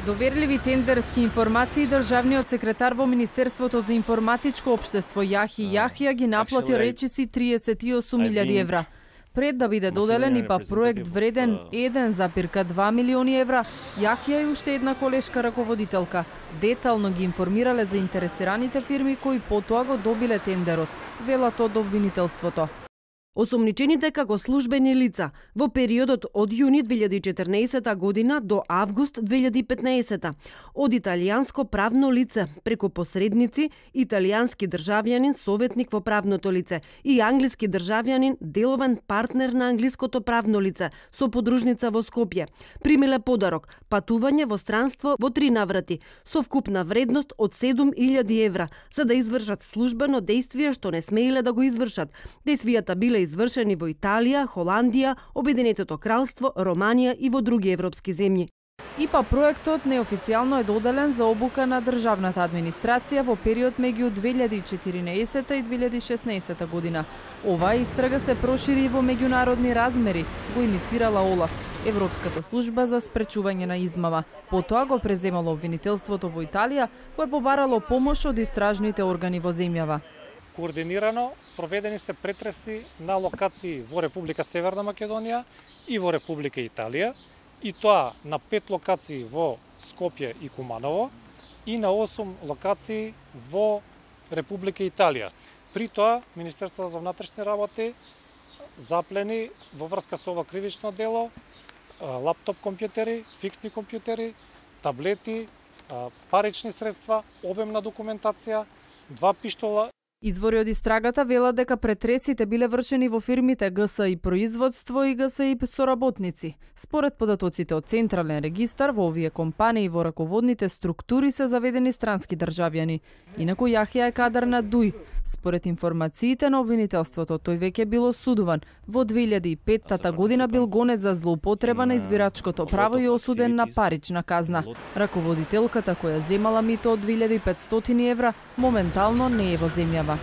Доверливи тендерски информации државниот секретар во Министерството за информатичко општество Јахи Јахија ги наплати речиси 38.000 евра. Пред да биде доделен ИПА проект вреден 1,2 милиони евра, Јахија и уште една колешка раководителка детално ги информирале заинтересираните фирми кои потоа го добиле тендерот, велат од обвинителството. Осомничените како службени лица во периодот од јуни 2014 година до август 2015 од италијанско правно лице преку посредници, италијански државјанин советник во правното лице и англиски државјанин деловен партнер на англиското правно лице со подружница во Скопје примиле подарок патување во странство во 3 наврати со вкупна вредност од 7.000 евра за да извршат службено дејствие што не смееле да го извршат. Дејствијата биле извршени во Италија, Холандија, Обединетото кралство, Романија и во други европски земји. ИПА проектот неофицијално е доделен за обука на државната администрација во период меѓу 2014 и 2016 година. Оваа истрага се прошири во меѓународни размери, го иницирала ОЛАФ, Европската служба за спречување на измама. Потоа го преземало обвинителството во Италија, кое побарало помош од истражните органи во земјава. Координирано спроведени се претреси на локации во Република Северна Македонија и во Република Италија, и тоа на 5 локации во Скопје и Куманово и на 8 локации во Република Италија. При тоа Министерството за внатрешни работи заплени во врска со ова кривично дело лаптоп компјутери, фиксни компјутери, таблети, парични средства, обемна документација, 2 пиштола. Извори од истрагата велат дека претресите биле вршени во фирмите ГСИ производство и ГСИ соработници. Според податоците од Централен регистар, во овие компании во раководните структури се заведени странски државјани. Инаку Јахија е кадар на ДУИ. Според информациите на обвинителството, тој веќе бил осудуван. Во 2005 година бил гонет за злоупотреба на избирачкото право и осуден на парична казна. Раководителката која земала мито од 2500 евра, моментално не е во земјава.